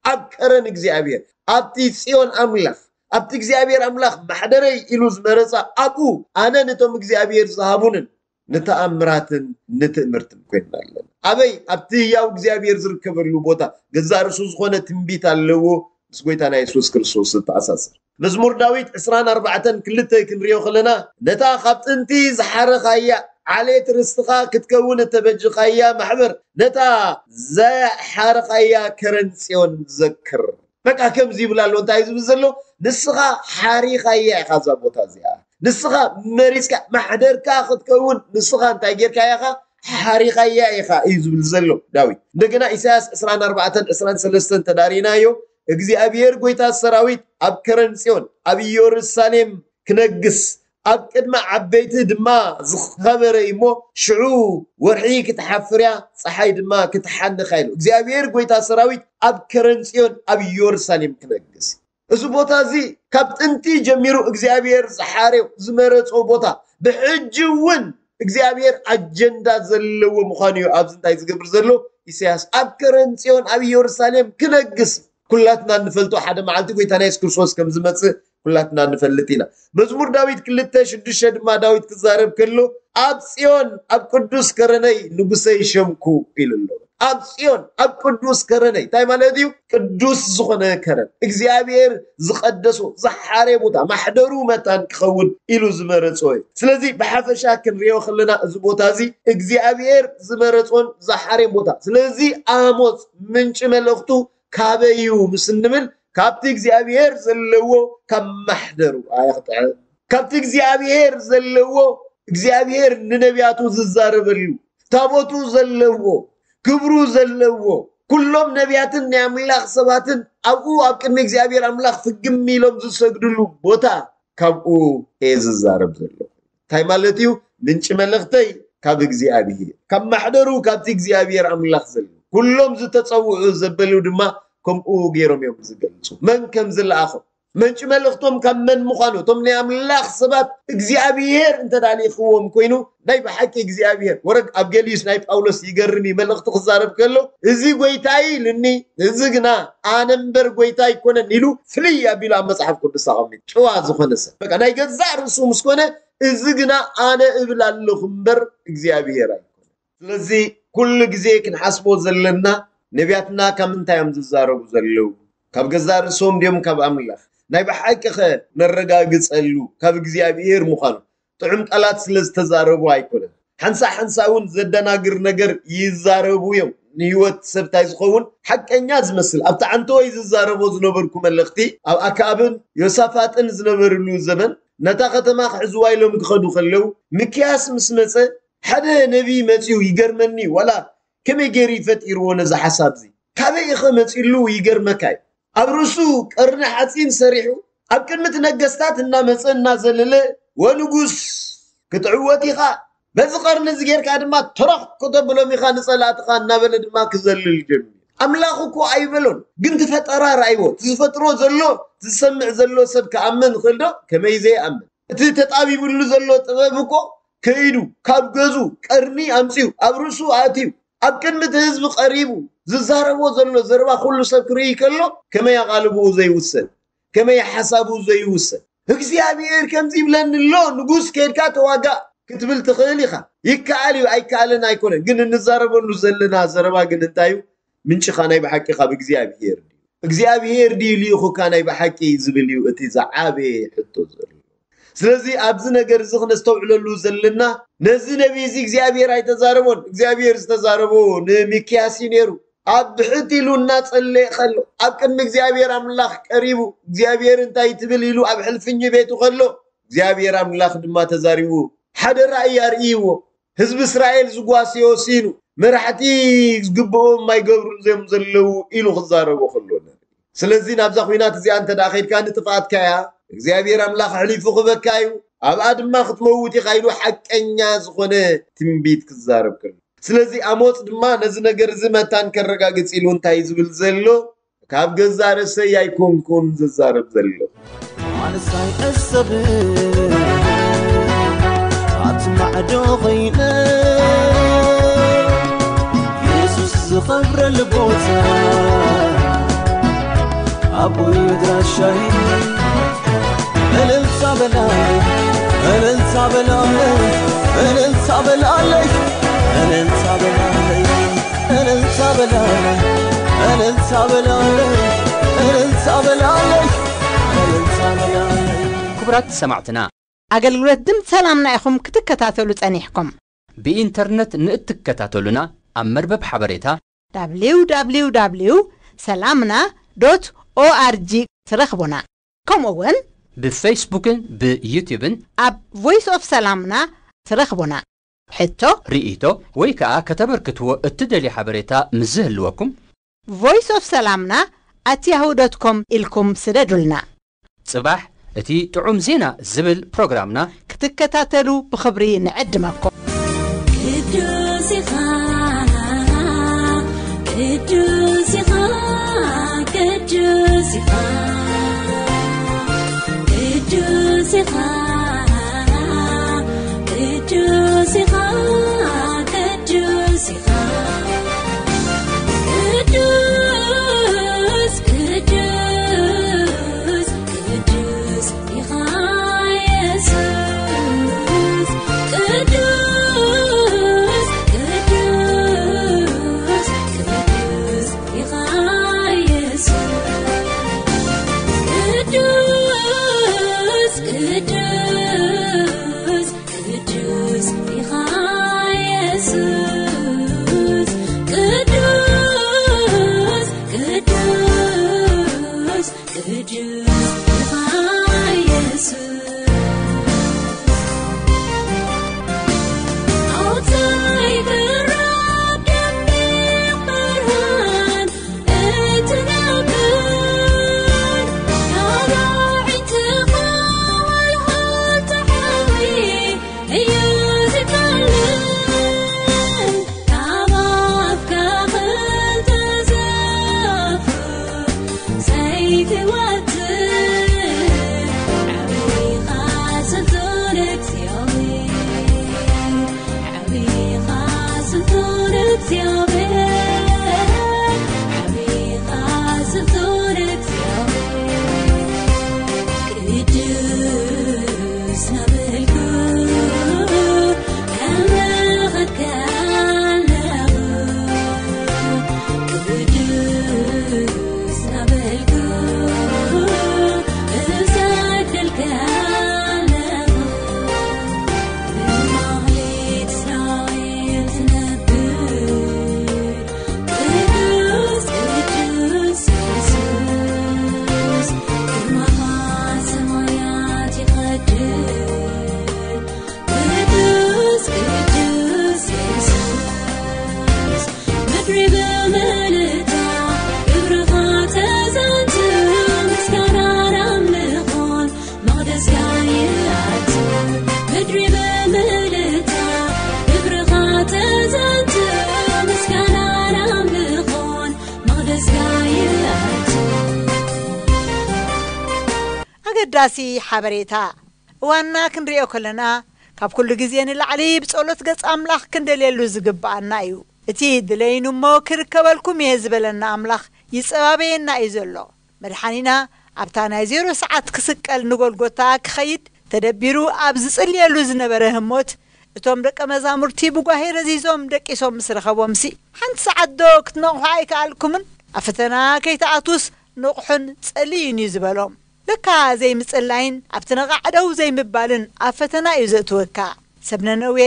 ኣብ ከረን እግዚኣብሔር፣ ኣብቲ ጽዮን ኣምላኽ፣ ኣብቲ እግዚኣብሔር ኣምላኽ ማሕደረይ ኢሉ ዝመረጻ ኣብኡ ኣነ ነቶም እግዚኣብሔር ዝሃቡንን ንተኣምራትን ንትእምርትን ኮይንና ኣለና። ኣበይ? ኣብቲ ህያው እግዚኣብሔር ዝርከበሉ ቦታ። ገዛእ ርእሱ ዝኾነ ትንቢት ኣለዎ፣ ምስ ጐይታና የሱስ ክርስቶስ ዝተኣሳሰር። መዝሙር ዳዊት ዕስራን ኣርባዕተን ክልተ ክንሪኦ ከለና፣ "ነታ ካብ ጥንቲ ዝሓረኻያ ዓሌት ርስትኻ ክትከውን እተበጅኻያ ማሕበር፣ ነታ ዘሓረኻያ ከረን ጽዮን ዘክር።" በቃ ከምዚ ይብል ኣሎ። እንታይ እዩ ዝብል ዘሎ? "ንስኻ ሓሪኻያ ኢኻ እዛ ቦታ እዚኣ። ንስኻ መሪጽካ፣ ማሕደርካ ክትከውን ንስኻ እንታይ ጌርካያ ኢኻ? ሓሪኻያ ኢኻ" እዩ ዝብል ዘሎ ዳዊት። እንደገና ኢሳያስ ዕስራን ኣርባዕተን ዕስራን ሰለስተን ተዳሪናዮ፣ "እግዚኣብሔር ጐይታ ሰራዊት ኣብ ከረን ጽዮን፣ ኣብ ኢየሩሳሌም ክነግስ፣ ኣብ ቅድሚ ዓበይቲ ድማ ዝኸበረ እዩ እሞ፣ ሽዑ ወርሒ ክትሓፍር እያ፣ ጸሓይ ድማ ክትሓንኽ እያ" ኢሉ። እግዚኣብሔር ጐይታ ሰራዊት ኣብ ከረን ጽዮን፣ ኣብ ኢየሩሳሌም ክነግስ እዩ። እዚ ቦታ እዚ ካብ ጥንቲ ጀሚሩ እግዚኣብሔር ዝሓርዮ ዝመረጾ ቦታ፣ ብሕጂ እውን እግዚኣብሔር ኣጀንዳ ዘለዎ ምዃኑ እዩ። ኣብዚ እንታይ ዝገብር ዘሎ? ኢሳያስ ኣብ ከረን ጽዮን ኣብ ኢየሩሳሌም ክነግስ እዩ። ኩላትና እንፈልጦ ሓደ መዓልቲ ጐይታና የሱስ ክርስቶስ ከም ዝመጽእ ኩላትና ንፈልጥ ኢና። መዝሙር ዳዊት ክልተ ሽዱሽተ ድማ ዳዊት ክዛረብ ከሎ፣ "ኣብ ጽዮን ኣብ ቅዱስ ከረነይ ንጉሰይ ሸምኩ" ኢሉ ኣሎ። ኣብ ጽዮን ኣብ ቅዱስ ከረነይ እንታይ ማለት እዩ? ቅዱስ ዝኾነ ከረን፣ እግዚኣብሔር ዝቐደሶ ዝሓረ ቦታ፣ ማሕደሩ መታን ክኸውን ኢሉ ዝመረጾ እዩ። ስለዚ ብሓፈሻ ክንሪኦ ከለና እዚ ቦታ እዚ እግዚኣብሔር ዝመረጾን ዝሓረን ቦታ። ስለዚ ኣሞጽ ምንጪ መልእኽቱ ካበይ እዩ ምስ እንብል፣ ካብቲ እግዚኣብሔር ዘለዎ ካብ ማሕደሩ ኣየኽጥዕን። ካብቲ እግዚኣብሔር ዘለዎ፣ እግዚኣብሔር ንነቢያቱ ዝዛረበሉ፣ ታቦቱ ዘለዎ፣ ክብሩ ዘለዎ፣ ኩሎም ነቢያትን ናይ ኣምላኽ ሰባትን ኣብኡ ኣብ ቅድሚ እግዚኣብሔር ኣምላኽ ፍግም ኢሎም ዝሰግድሉ ቦታ ካብኡ እየ ዝዛረብ ዘለኹ። እንታይ ማለት እዩ? ምንጪ መልእኽተይ ካብ እግዚኣብሔር፣ ካብ ማሕደሩ ካብቲ እግዚኣብሔር ኣምላኽ ዘሎ፣ ኩሎም ዝተጸውዑ ዘበሉ ድማ ከምኡ ገይሮም እዮም ዝገልጹ። መን ከም ዝለኣኾም፣ ምንጪ መልእኽቶም ካብ መን ምዃኑ፣ እቶም ናይ ኣምላኽ ሰባት እግዚኣብሔር እንተዳሊኽዎም ኮይኑ፣ ናይ ብሓቂ እግዚኣብሔር ወረግ ኣብ ገሊዩስ ናይ ጳውሎስ ይገርም እዩ። መልእኽቲ ክዛረብ ከሎ፣ "እዚ ጎይታይ" ኢሉኒ፣ "እዚ ግና ኣነ እምበር ጎይታ ኣይኮነን" ኢሉ ፍልይ ኣቢሉ ኣብ መጽሓፍ ቅዱስ ኣቐሚጡ። ጭዋ ዝኾነ ሰብ፣ በቃ፣ ናይ ገዛእ ርእሱ ምስ ኮነ፣ "እዚ ግና ኣነ እብል ኣለኹ እምበር እግዚኣብሔር ኣይኮነን።" ስለዚ ኩሉ ግዜ ክንሓስቦ ዘለና፣ ነቢያትና ካብ ምንታይ እዮም ዝዛረቡ ዘለዉ? ካብ ገዛእ ርእሶም ድዮም ካብ ኣምላኽ? ናይ ብሓቂ ኸ ነረጋግጸሉ ካብ እግዚኣብሔር ምዃኑ ጥዑም ቃላት ስለ ዝተዛረቡ ኣይኮነን። ሓንሳእ ሓንሳእ እውን ዘደናግር ነገር ይዛረቡ እዮም። ንህይወት ሰብ እንታይ ዝኸውን ሓቀኛ ዝመስል፣ ኣብቲ ዓንተወይ ዝዛረቦ ዝነበርኩ መልእኽቲ፣ ኣብ ኣክኣብን ዮሳፋጥን ዝነበርሉ ዘመን፣ ነታ ከተማ ክሕዝዋ ኢሎም ክኸዱ ከለዉ፣ ሚክያስ ምስ መጸ፣ ሓደ ነቢይ መጺኡ ይገርመኒ፣ ዋላ ከመይ ገይሩ ይፈጢርዎ ነዚ ሓሳብ እዚ? ካበይ ኢኸ መጺሉ ይገርመካ እዩ። ኣብ ርእሱ ቀርኒ ሓጺን ሰሪሑ፣ ኣብ ቅድሚ እቲ ነገስታት እናመጸ እናዘለለ፣ "ወንጉስ፣ ክትዕወት ኢኻ፣ በዚ ቀርኒ እዚ ጌርካ ድማ ተረኽ ከተብሎም ኢኻ ንጸላእትኻ" እናበለ ድማ ክዘልል ጀሚሩ። ኣምላኽ እኮ ኣይበሎን፣ ግን እቲ ፈጠራ ረኣይዎ። እቲ ዝፈጥሮ ዘሎ፣ ዝሰምዕ ዘሎ ሰብ ክኣምን ይኽእል ዶ? ከመይ ዘይኣምን? እቲ ተጣቢብሉ ዘሎ ጥበብ እኮ ከይዱ፣ ካብ ገዙ ቀርኒ ኣምጺኡ፣ ኣብ ርእሱ ኣእትዩ፣ ኣብ ቅድሚ እቲ ህዝቢ ቀሪቡ፣ ዝዛረቦ ዘሎ ዘረባ ኩሉ ሰብ ክርኢ ከሎ፣ ከመይ ኣቓልቦኡ ዘይውሰን? ከመይ ሓሳቡ ዘይውሰን? "እግዚኣብሔር ከምዚ ይብለኒ ኣሎ፣ ንጉስ፣ ከይድካ ተዋጋእ" ክትብል ትኽእል ኢኻ። ይከኣል እዩ፣ ኣይከኣልን ኣይኮነን። ግን እንዛረበሉ ዘለና ዘረባ ግን እንታይ እዩ? ምንጭኻ ናይ ብሓቂ ካብ እግዚኣብሔር ድዩ? እግዚኣብሔር ድዩ ልኢኹካ ናይ ብሓቂ ዝብል እዩ እቲ ዝዓበየ ሕቶ ዘሎ። ስለዚ ኣብዚ ነገር እዚ ክነስተውዕለሉ ዘለና፣ ነዚ ነቢይ እዚ እግዚኣብሔር ኣይተዛረቦን። እግዚኣብሔር ዝተዛረቦ ንሚክያስ እዩ ነይሩ። ኣብ ብሕት ኢሉ እናጸለየ ከሎ፣ ኣብ ቅድሚ እግዚኣብሔር ኣምላኽ ቀሪቡ፣ እግዚኣብሔር እንታይ ትብል ኢሉ ኣብ ሕልፍኝ ቤቱ ከሎ፣ እግዚኣብሔር ኣምላኽ ድማ ተዛሪቡ፣ ሓደ ራእይ ኣርእይዎ። ህዝቢ እስራኤል ዝጓስዮ ሲኑ፣ መራሕቲ ዝግብኦም ኣይገብሩን እዮም ዘለዉ ኢሉ ክዛረቦ ከሎ ንርኢ። ስለዚ ናብዛ ኹናት እዚኣ እንተ ደኣ ኸይድካ ንጥፍኣትካ እያ፣ እግዚኣብሔር ኣምላኽ ኣሕሊፉ ክህበካ እዩ፣ ኣብኣ ድማ ክትመውት ኢኻ ኢሉ ሓቀኛ ዝኾነ ትንቢት ክዛረብ ከሎ። ስለዚ ኣሞጽ ድማ ነዚ ነገር እዚ መታን ከረጋግጽ ኢሉ እንታይ እዩ ዝብል ዘሎ? ካብ ገዛእ ርእሰይ ኣይኮንኩን ዝዛረብ ዘለኹ። ኣነስ ኣይዕሰብን ኣብቲ ማዕዶ ኸይነ የሱስ ዝኸብረሉ ቦታ ኣቦይ ኣድራሻይ። እልልታ በላ፣ እልልታ በላለይ፣ እልልታ በላለይ፣ እልልታ በላለይ፣ እልልታ በላለይ፣ እልልታ በላለይ፣ እልልታ በላለይ፣ እልልታ በላለይ። ክቡራት ሰማዕትና፣ ኣገልግሎት ድምፂ ሰላምና ኢኹም ክትከታተሉ ጸኒሕኩም። ብኢንተርነት ንእትከታተሉና፣ ኣብ መርበብ ሓበሬታ www ሰላምና ዶት ኦኣርጂ ትረኽቡና። ከምኡ እውን ብፌስቡክን ብዩትዩብን ኣብ ቮይስ ኦፍ ሰላምና ትረኽቡና። ሕቶ፣ ርኢቶ ወይ ከኣ ከተበርክትዎ እትደልዩ ሓበሬታ ምስ ዝህልወኩም፣ ቮይስ ኦፍ ሰላምና ኣት ያሁ ዶት ኮም ኢልኩም ስደዱልና። ጽባሕ እቲ ጥዑም ዜና ዝብል ፕሮግራምና ክትከታተሉ ብኽብሪ ንዕድመኩም። ቅዱስ ኢኻ፣ ቅዱስ ኢኻ፣ ቅዱስ ኢኻ፣ ቅዱስ ኢኻ፣ ቅዱስ ኢኻ፣ ቅዱስ ኢኻ፣ ቅዱስ፣ ቅዱስ፣ ቅዱስ ኢኻ የሱስ። ቅዱስ፣ ቅዱስ፣ ቅዱስ ኢኻ የሱስ። ቅዱስ፣ ቅዱስ ኣገዳሲ ሓበሬታ። እዋንና ክንሪኦ ከለና፣ ካብ ኩሉ ግዜ ንላዕሊ ብጸሎት ገጽ ኣምላኽ ክንደልየሉ ዝግብኣና እዩ። እቲ ድለይኑ እሞ ክርከበልኩም እየ ዝበለና ኣምላኽ ይጸባበየና እዩ ዘሎ። መድሓኒና ኣብታ ናይ ዜሮ ሰዓት ክስቀል ንጎልጎታ ክኸይድ ተደቢሩ ኣብ ዝጽልየሉ ዝነበረ ህሞት፣ እቶም ደቀ መዛሙርቲ ብጓሄ ረዚዞም ደቂሶም ምስ ረኸቦምሲ፣ ሓንቲ ሰዓት ዶ ክትነቕሑ ኣይከኣልኩምን? ኣብ ፈተና ከይትኣትዉስ ንቕሑን ጸልዩን እዩ ዝበሎም። ለካ ዘይምጽላይን ኣብቲ ነቓዕ ደው ዘይምባልን ኣብ ፈተና እዩ ዘእትወካ። ሰብ ነነዌ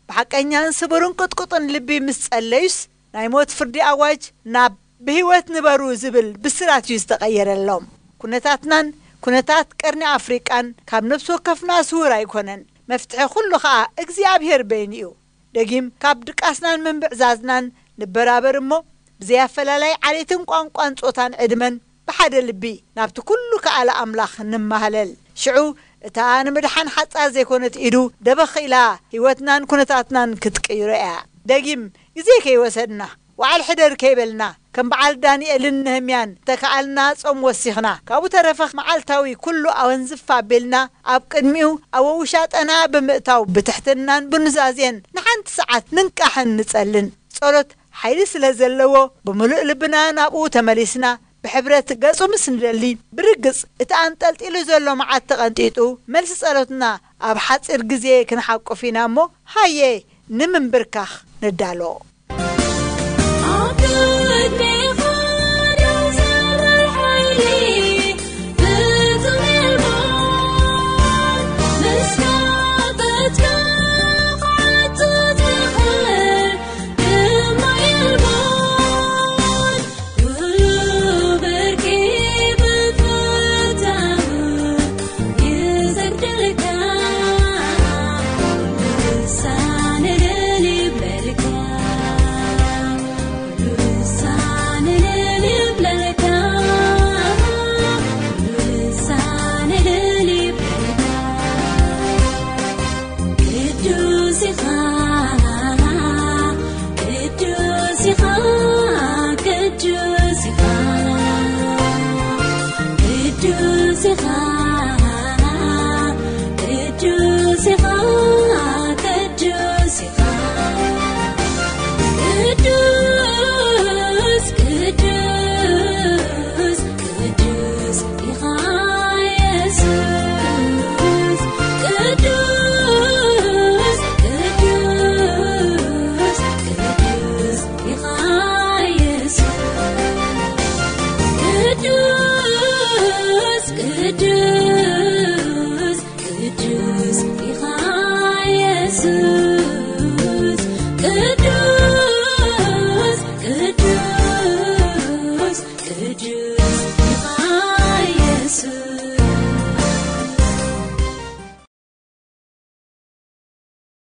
ብሓቀኛን ስቡርን ቅጥቁጥን ልቢ ምስ ጸለዩስ፣ ናይ ሞት ፍርዲ ኣዋጅ ናብ ብህይወት ንበሩ ዝብል ብስራት እዩ ዝተቐየረሎም። ኩነታትናን ኩነታት ቀርኒ ኣፍሪቃን ካብ ነፍሲ ወከፍና ስውር ኣይኮነን። መፍትሒ ኩሉ ኸኣ እግዚኣብሔር በይኑ እዩ። ደጊም ካብ ድቃስናን ምንብዕዛዝናን ንበራበር እሞ፣ ብዘይ ኣፈላላይ ዓሌትን ቋንቋን ጾታን ዕድመን ብሓደ ልቢ ናብቲ ኩሉ ከኣለ ኣምላኽ ንማህለል። ሽዑ እታ ንምድሓን ሓጻር ዘይኮነት ኢዱ ደበኽ ኢላ ህይወትናን ኩነታትናን ክትቅይሮ እያ። ደጊም ግዜ ከይወሰድና፣ ዋዕል ሕደር ከይበልና፣ ከም በዓል ዳንኤልን ነህምያን ተከኣልና ጾም ወሲኽና፣ ካብኡ ተረፈ መዓልታዊ ኩሉ ኣወንዝፍ ኣቢልና ኣብ ቅድሚኡ ኣብ ውሻጠና ብምእታው ብትሕትናን ብኑዛዜን ንሓንቲ ሰዓት ንንቃሕን ንጸልን። ጸሎት ሓይሊ ስለ ዘለዎ፣ ብምሉእ ልብና ናብኡ ተመሊስና፣ ብሕብረት ገጹ ምስ ንደሊ፣ ብርግጽ እቲ ኣንጠልጢሉ ዘሎ መዓት ተቐንጢጡ፣ መልሲ ጸሎትና ኣብ ሓጺር ግዜ ክንሓቁፍ ኢና እሞ፣ ሃየ ንምንብርካኽ ንዳሎ። ኣብ ቅድሜኻ ደው ዘብል ሓይሊ ፍጹም የልቦን፣ ምስ ናፍቆትካ ክዓቱ ዝኽእል ድማ የልቦን። ኩሉ ብርቂ ብፍታው ይሰግደልካ፣ ኩሉ ሳንል ይብለልካ፣ ኩሉ ሳንል ይብለልካ፣ ኩሉ ሳንል ይብለልካ። ቅዱስ ኢኻ፣ ቅዱስ ኢኻ፣ ቅዱስ ኢኻ፣ ቅዱስ ኢኻ፣ ቅዱስ ኢኻ፣ ቅዱስ ኢኻ። ቅዱስ፣ ቅዱስ፣ ቅዱስ ኢኻ የሱስ። ቅዱስ፣ ቅዱስ፣ ቅዱስ ኢኻ የሱስ። ቅዱስ፣ ቅዱስ፣ ቅዱስ ኢኻ የሱስ።